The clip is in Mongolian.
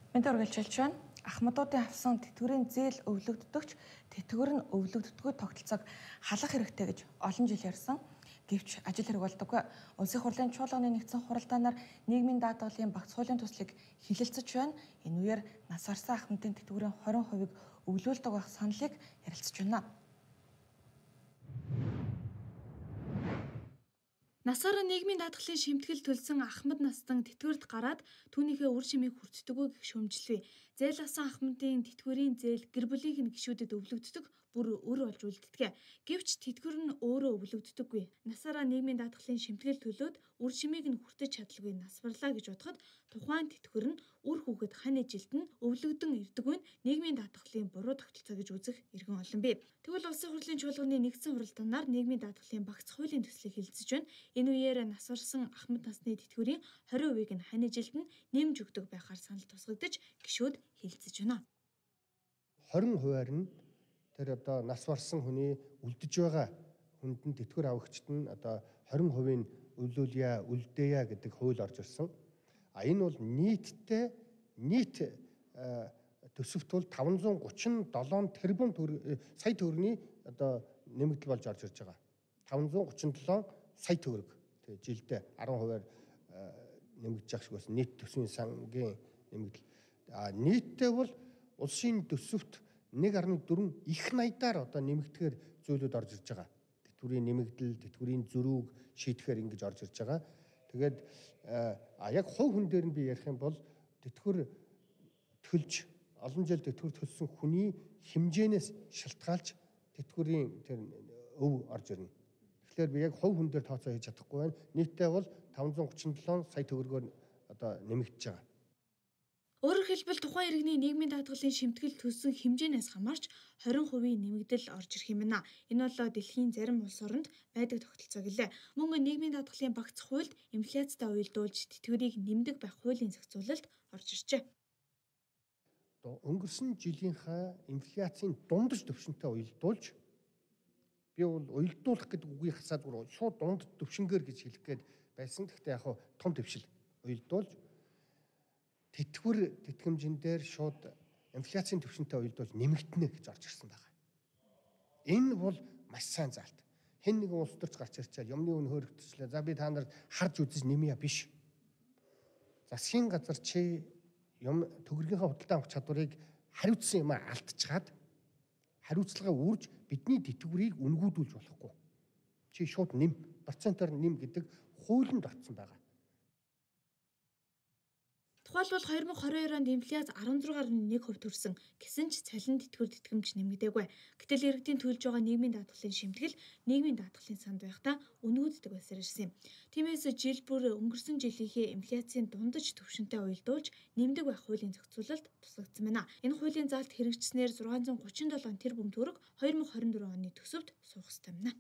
Мэдээ үргэлжлүүлж байна. Ахмадуудын авсан тэтгэврийн зээл өвлөгддөгч тэтгэвэр нь өвлөгддөггүй тогтолцоог халах хэрэгтэй гэж олон жил ярьсан. Гэвч ажил хэрэг болдоггүй. Улсын хурлын чуулганы нэгдсэн хуралдаанаар нийгмийн даатгалын багц хуулийн төслийг хилэлцэж байна. Энэ үеэр нас барсан ахмадын тэтгэврийн 20% өвлүүлдэг байх саналыг ярилцж байна. Насаараа нийгмийн даатгалын шимтгэл төлсөн Ахмад Настан тэтгэврт гараад түүнийхээ үр шимийг хүртдэггүй гэх шүүмжлэв. Зээл авсан Ахмадын тэтгэврийн зээл гэр бүлийнх нь гишүүдэд өвлөгддөг бүр өр болж үлддэг. Гэвч тэтгэвэр нь өөрөө өвлөгддөггүй. Насаараа нийгмийн даатгалын шимтгэл төлөөд үр шимийг нь хүртэж чадалгүй нас барлаа гэж бодоход тухайн тэтгэвэр нь үр хүүхэд хань ижилд нь өвлөгдөн ирдэггүй нь нийгмийн даатгалын буруу тогтолцоо гэж үзэх иргэн олон бий. Тэгвэл улсын хурлын чуулганы нэгдсэн хуралдаанаар нийгмийн даатгалын багц хуулийн төслийг хилцэж байна. Энэ үеэр нас барсан Ахмад насны тэтгэврийн 20%-ийг нь хань ижилд нь нэмж өгдөг байхаар санал тусгагдаж гишүүд хилцэж байна. 20%-аар нь тэр одоо нас барсан хүний үлдэж байгаа хүнд нь тэтгэвэр авагчид нь одоо 20%-ийг өвлүүлье, үлдээе гэдэг хууль орж ирсэн. Энэ бол нийт төсөвт бол 537 тэрбум сая төгрөгийн одоо нэмэгдэл болж орж ирж байгаа. 537 сая төгрөг жилдээ 10%-аар нэмэгдэж ах шиг байсан нийт төсвийн сангийн нэмэгдэл. Нийтдээ бол улсын төсөвт 1.4 их наядаар одоо нэмэгдэхээр зүйлүүд орж ирж байгаа. Тэтгэврийн нэмэгдэл, тэтгэврийн зөрүүг шийдэхээр ингэж орж ирж байгаа. Тэгээд яг хувь хүн дээр нь би ярих юм бол тэтгэвэр төлж олон жил тэтгэвэр төлсөн хүний хэмжээнээс шалтгаалж тэтгэврийн тэр өв орж ирнэ. Тэгэхээр би яг хувь хүн дээр тооцоо хийж чадахгүй байна. Нийтдээ бол 537 сая төгрөгөөр одоо нэмэгдэж байгаа. Өөрөөр хэлбэл тухайн иргэний нийгмийн даатгалын шимтгэл төлсөн хэмжээнээс хамаарч 20% нэмэгдэл орж ирэх юм байна. Энэ бол дэлхийн зарим улс оронд байдаг тогтолцоо гэлээ. Мөн нийгмийн даатгалын багц хуульд инфляцтай уялдуулж тэтгэврийг нэмдэг байх хуулийн зохицуулалт орж иржээ. Өнгөрсөн жилийнхаа инфляцийн дундаж түвшинтэй уялдуулж би бол уялдуулах гэдэг үгийг хасаад шууд дунд төвшингээр гэж хэлэх гээд байсан. Гэхдээ яг том төвшил уялдуулж тэтгэвэр тэтгэмжин дээр шууд инфляцийн түвшинтэй уялдуулж нэмэгдэнэ гэж орж ирсэн байна. Энэ бол маш сайн заалт. Хэн нэгэн улс төрч гарч ирчээл юмны үн хөөрөгдчихлээ. За би та нарт харж үзэж нэмье биш. Засгийн газар чи юм төгрөгийнхаа худалдан авах чадварыг хариуцсан юм алдчихад хариуцлагаа үрж бидний тэтгэврийг үнгүүдүүлж болохгүй. Чи шууд нэм, процентоор нэм гэдэг хуулинд орсон байгаа. Тухайлбал 2022 онд инфляц 16.1% төрсөн гэсэн ч цалин тэтгэвэр тэтгэмж нэмэгдээгүй. Гэтэл иргэдийн төлж байгаа нийгмийн даатгалын шимтгэл нийгмийн даатгалын санд байхдаа үнгүүддэг байсаар ирсэн юм. Тиймээс жил бүр өнгөрсөн жилийнхээ инфляцийн дундаж түвшинтэй уялдуулж нэмдэг байх хуулийн зохицуулалт тусгагдсан байна. Энэ хуулийн заалт хэрэгжснээр 637 тэрбум төгрөг 2024 оны төсөвт суух ёстой байна.